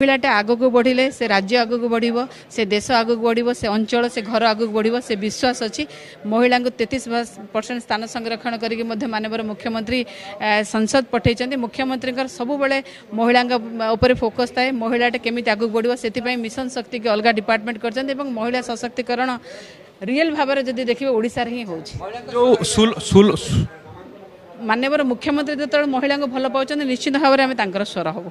ମହିଳାଟା ଆଗକୁ ବଢ଼ିଲେ ସେ ରାଜ୍ୟ ଆଗକୁ ବଢ଼ିବ, ସେ ଦେଶ ଆଗକୁ ବଢ଼ିବ, ସେ ଅଞ୍ଚଳ, ସେ ଘର ଆଗକୁ ବଢ଼ିବ, ସେ ବିଶ୍ୱାସ ଅଛି। ମହିଳାଙ୍କୁ 33% ସ୍ଥାନ ସଂରକ୍ଷଣ କରିକି ମଧ୍ୟ ମାନ୍ୟବର ମୁଖ୍ୟମନ୍ତ୍ରୀ ସଂସଦ ପଠାଇଛନ୍ତି। ମୁଖ୍ୟମନ୍ତ୍ରୀଙ୍କର ସବୁବେଳେ ମହିଳାଙ୍କ ଉପରେ ଫୋକସ୍ ଥାଏ, ମହିଳାଟା କେମିତି ଆଗକୁ ବଢ଼ିବ, ସେଥିପାଇଁ ମିଶନ ଶକ୍ତିକି ଅଲଗା ଡିପାର୍ଟମେଣ୍ଟ କରିଛନ୍ତି ଏବଂ ମହିଳା ସଶକ୍ତିକରଣ ରିଏଲ୍ ଭାବରେ ଯଦି ଦେଖିବେ ଓଡ଼ିଶାରେ ହିଁ ହେଉଛି। ମାନ୍ୟବର ମୁଖ୍ୟମନ୍ତ୍ରୀ ଯେତେବେଳେ ମହିଳାଙ୍କୁ ଭଲ ପାଉଛନ୍ତି, ନିଶ୍ଚିତ ଭାବରେ ଆମେ ତାଙ୍କର ସ୍ୱର ହେବୁ।